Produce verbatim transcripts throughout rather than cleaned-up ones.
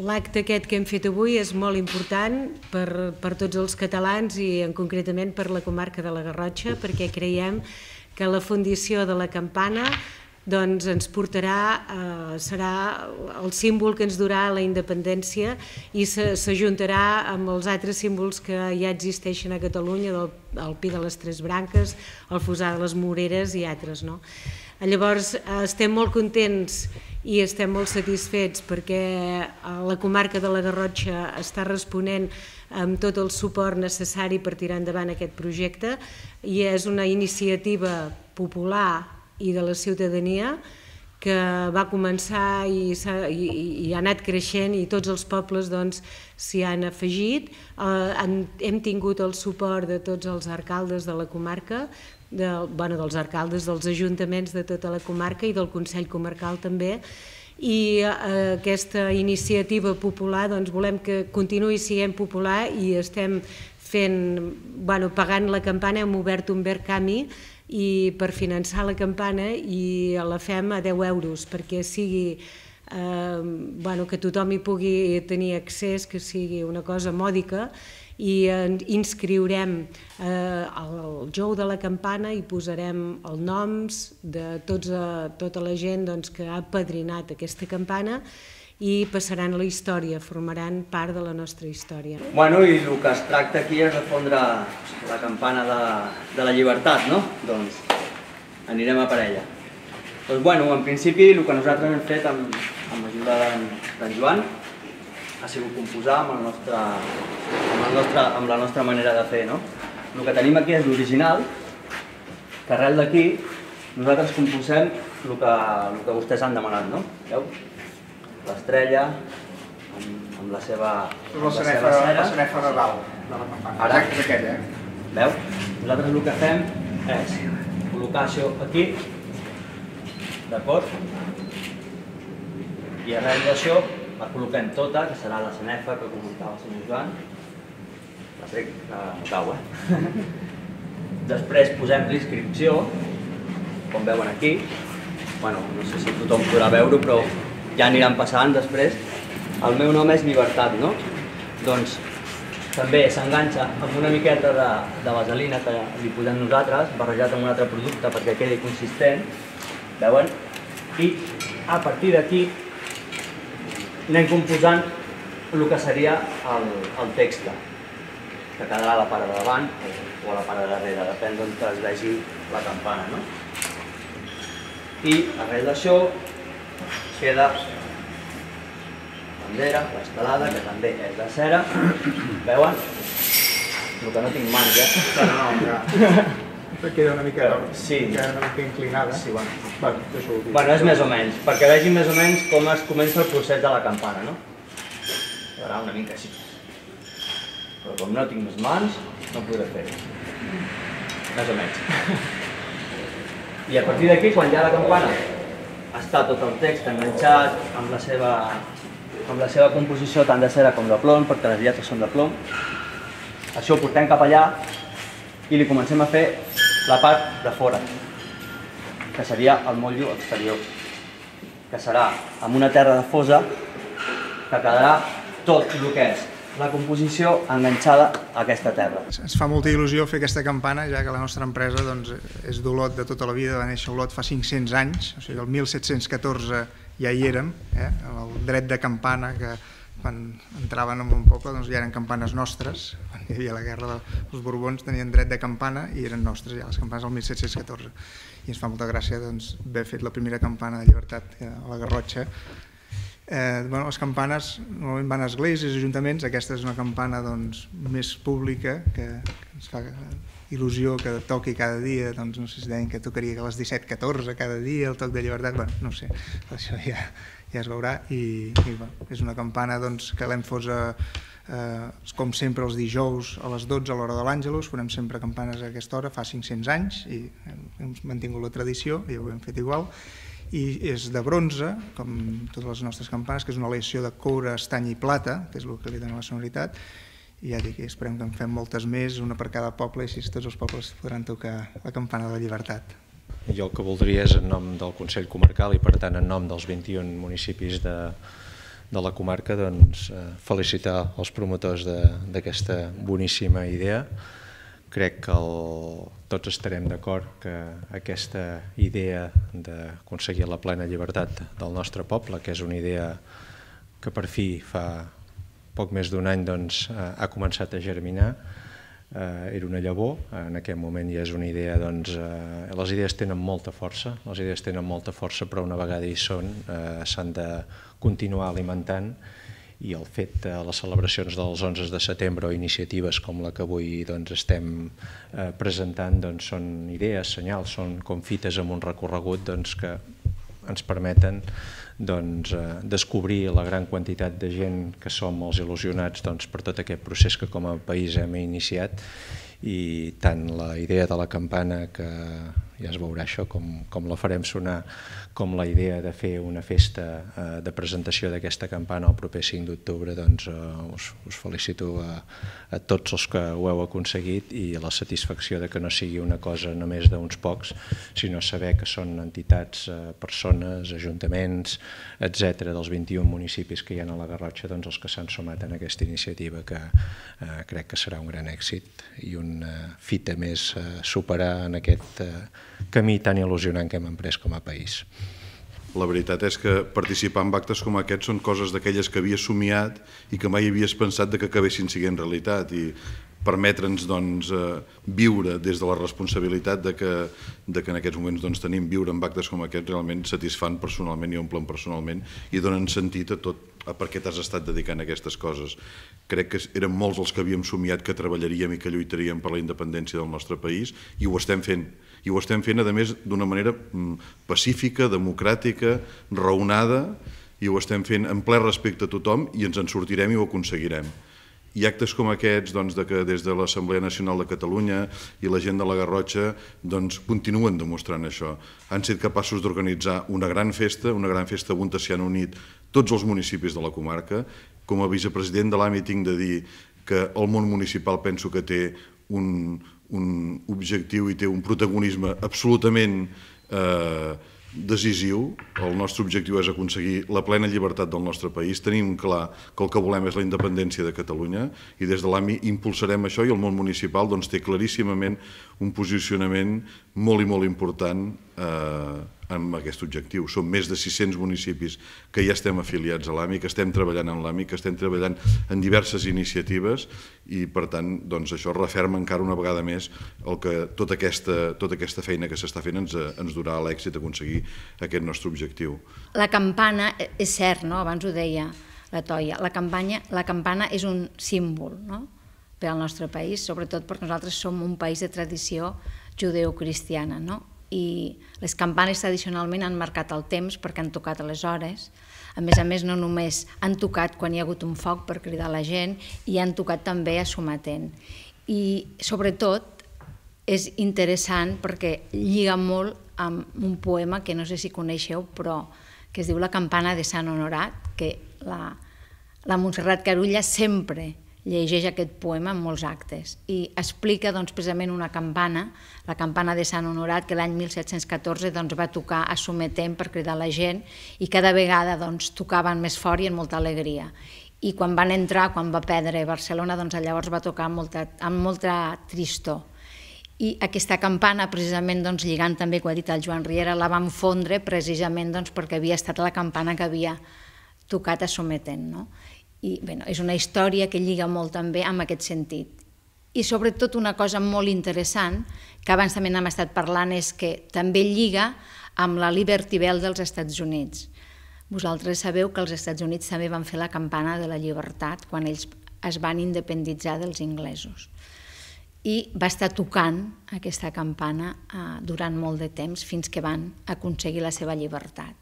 l'acte aquest que hem fet avui és molt important per, per tots els catalans i en concretament per la comarca de la Garrotxa, perquè creiem que la fundició de la campana doncs ens portarà, eh, serà el símbol que ens durà la independència i s'ajuntarà amb els altres símbols que ja existeixen a Catalunya, del, el Pi de les Tres Branques, el Fossar de les Moreres i altres, no? Llavors estem molt contents i estem molt satisfets perquè la comarca de la Garrotxa està responent amb tot el suport necessari per tirar endavant aquest projecte i és una iniciativa popular i de la ciutadania que va començar i, i, i ha anat creixent i tots els pobles doncs, s'hi han afegit. Eh, hem, hem tingut el suport de tots els alcaldes de la comarca, de, bueno, dels alcaldes dels ajuntaments de tota la comarca i del Consell Comarcal també, i eh, aquesta iniciativa popular doncs, volem que continuï sent popular i estem fent, bueno, pagant la campana, hem obert un Verkami i per finançar la campana i la fem a deu euros perquè sigui, eh, bueno, que tothom hi pugui tenir accés, que sigui una cosa mòdica i inscriurem eh, el jou de la campana i posarem els noms de tots, eh, tota la gent doncs, que ha apadrinat aquesta campana i passaran a la història, formaran part de la nostra història. Bueno, i el que es tracta aquí és de fondre la campana de, de la llibertat, no? Doncs anirem a per ella. Doncs bueno, en principi el que nosaltres hem fet amb, amb l'ajuda d'en Joan ha sigut composar amb, el nostre, amb, el nostre, amb la nostra manera de fer, no? El que tenim aquí és l'original, que arrel d'aquí nosaltres composem el que, el que vostès han demanat, no? Veu? L'estrella, amb, amb la seva, amb la seva cera. La sanefa de dalt, de la campana. Ara, és aquella, eh? Veu? Nosaltres el que fem és col·locar això aquí, d'acord? I arrel d'això la col·loquem tota, que serà la sanefa que comentava el senyor Joan. La trec, no cau, eh? Després posem l'inscripció, com veuen aquí. Bueno, no sé si tothom podrà veure-ho, però ja aniran passant després. El meu nom és Llibertat, no? Doncs també s'enganxa amb una miqueta de, de vaselina que li posem nosaltres, barrejat amb un altre producte perquè quedi consistent, veuen? I a partir d'aquí anem composant el que seria el, el text, que quedarà a la part de davant o a la part de darrere, depèn d'on es vegi la campana, no? I arrel d'això queda la bandera, l'estelada, que també és de cera. Veuen? El que no tinc mans, eh? No, no, ja. Queda una mica, sí. Queda una mica inclinada. Sí, bueno. Bueno, deixo-ho dir. Bueno, és més o menys, perquè vegin més o menys com es comença el procés de la campana, no? Quedarà una mica així. Però com no tinc més mans, no podré fer-ho. Més o menys. I a partir d'aquí, quan ja la campana està tot el text enganxat amb la seva, amb la seva composició tant de cera com de plom, perquè les lletres són de plom, això ho portem cap allà i li comencem a fer la part de fora, que seria el motllo exterior, que serà amb una terra de fosa que quedarà tot el que és la composició enganxada a aquesta terra. Ens fa molta il·lusió fer aquesta campana, ja que la nostra empresa doncs, és d'Olot de tota la vida, va néixer a Olot fa cinc-cents anys, o sigui, el mil set-cents catorze ja hi érem, eh? El dret de campana, que quan entraven en un poble doncs, ja eren campanes nostres, quan hi havia la guerra dels Borbons tenien dret de campana i eren nostres ja les campanes del mil set-cents catorze. I ens fa molta gràcia doncs, haver fet la primera campana de llibertat a la Garrotxa. Eh, bueno, les campanes normalment van a esglésies, ajuntaments, aquesta és una campana doncs, més pública que, que ens fa il·lusió que toqui cada dia, doncs no sé si deien que tocaria a les disset catorze cada dia el toc de llibertat, bueno, no ho sé, això ja, ja es veurà i, i bueno, és una campana doncs, que l'hem fos a, eh, com sempre els dijous a les dotze a l'hora de l'Àngelus, farem sempre campanes a aquesta hora, fa cinc-cents anys i hem mantingut la tradició i ho hem fet igual. I és de bronze, com totes les nostres campanes, que és una aleació de coure, estany i plata, que és el que li dona la sonoritat, i ja dic, esperem que en fem moltes més, una per cada poble, i així tots els pobles podran tocar la campana de la llibertat. Jo el que voldria és en nom del Consell Comarcal i per tant en nom dels vint-i-un municipis de, de la comarca, doncs, felicitar els promotors d'aquesta boníssima idea. Crec que el, tots estarem d'acord que aquesta idea d'aconseguir la plena llibertat del nostre poble, que és una idea que per fi fa poc més d'un any doncs, ha començat a germinar, eh, era una llavor, en aquest moment ja és una idea, doncs, eh, les idees tenen molta força, les idees tenen molta força, però una vegada hi són eh, s'han de continuar alimentant, i el fet de les celebracions dels onze de setembre o iniciatives com la que avui doncs, estem eh, presentant doncs, són idees, senyals, són com fites amb un recorregut doncs, que ens permeten doncs, eh, descobrir la gran quantitat de gent que som els il·lusionats doncs, per tot aquest procés que com a país hem iniciat, i tant la idea de la campana, que ja es veurà això, com, com la farem sonar, com la idea de fer una festa eh, de presentació d'aquesta campana el proper cinc d'octubre, doncs eh, us, us felicito a, a tots els que ho heu aconseguit, i la satisfacció de que no sigui una cosa només d'uns pocs, sinó saber que són entitats, eh, persones, ajuntaments, etcètera, dels vint-i-un municipis que hi ha a la Garrotxa, doncs els que s'han sumat en aquesta iniciativa, que eh, crec que serà un gran èxit i una fita més a superar en aquest eh, camí tan il·lusionant que hem emprès com a país. La veritat és que participar en actes com aquests són coses d'aquelles que havies somiat i que mai havies pensat que acabessin sent realitat, i permetre'ns doncs, viure des de la responsabilitat de que, de que en aquests moments doncs, tenim viure en actes com aquests realment satisfan personalment i omplen personalment i donen sentit a tot a per què t'has estat dedicant a aquestes coses. Crec que eren molts els que havíem somiat que treballaríem i que lluitaríem per la independència del nostre país, i ho estem fent. I ho estem fent, a més, d'una manera pacífica, democràtica, raonada, i ho estem fent en ple respecte a tothom, i ens en sortirem i ho aconseguirem. I actes com aquests, doncs, de que des de l'Assemblea Nacional de Catalunya i la gent de la Garrotxa doncs, continuen demostrant això. Han estat capaços d'organitzar una gran festa, una gran festa on s'hi han unit tots els municipis de la comarca. Com a vicepresident de l'A M I tinc de dir que el món municipal penso que té un, un objectiu i té un protagonisme absolutament eh, decisiu. El nostre objectiu és aconseguir la plena llibertat del nostre país. Tenim clar que el que volem és la independència de Catalunya, i des de l'A M I impulsarem això, i el món municipal doncs, té claríssimament un posicionament molt i molt important eh, amb aquest objectiu. Som més de sis-cents municipis que ja estem afiliats a l'A M I, que estem treballant en l'A M I, que estem treballant en diverses iniciatives, i per tant doncs, això referma encara una vegada més el que tota aquesta, tota aquesta feina que s'està fent ens, ens durà a l'èxit d'aconseguir aquest nostre objectiu. La campana, és cert, no? Abans ho deia la Toia, la, campanya, la campana és un símbol, no? Per al nostre país, sobretot perquè nosaltres som un país de tradició judeocristiana, no? I les campanes tradicionalment han marcat el temps perquè han tocat a les hores. A més a més, no només han tocat quan hi ha hagut un foc per cridar la gent, i han tocat també a sometent. I sobretot és interessant perquè lliga molt amb un poema que no sé si coneixeu, però que es diu La campana de Sant Honorat, que la, la Montserrat Carulla sempre llegeix aquest poema en molts actes, i explica doncs, precisament una campana, la campana de Sant Honorat, que l'any mil set-cents catorze doncs, va tocar a sometent per cridar la gent, i cada vegada doncs, tocaven més fort i amb molta alegria. I quan van entrar, quan va perdre Barcelona, doncs, llavors va tocar amb molta, amb molta tristor. I aquesta campana, precisament doncs, lligant també, com ha dit el Joan Riera, la van fondre precisament doncs, perquè havia estat la campana que havia tocat a sometent, no? I bé, és una història que lliga molt també amb aquest sentit. I sobretot una cosa molt interessant, que abans també n'hem estat parlant, és que també lliga amb la Liberty Bell dels Estats Units. Vosaltres sabeu que els Estats Units també van fer la campana de la llibertat quan ells es van independitzar dels inglesos. I va estar tocant aquesta campana durant molt de temps fins que van aconseguir la seva llibertat.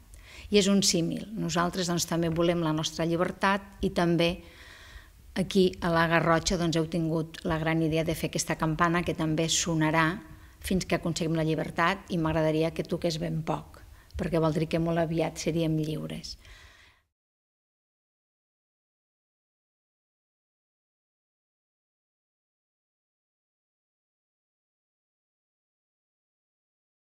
I és un símil. Nosaltres doncs, també volem la nostra llibertat, i també aquí a la Garrotxa doncs, heu tingut la gran idea de fer aquesta campana que també sonarà fins que aconseguim la llibertat, i m'agradaria que toqués ben poc, perquè vol dir que molt aviat seríem lliures.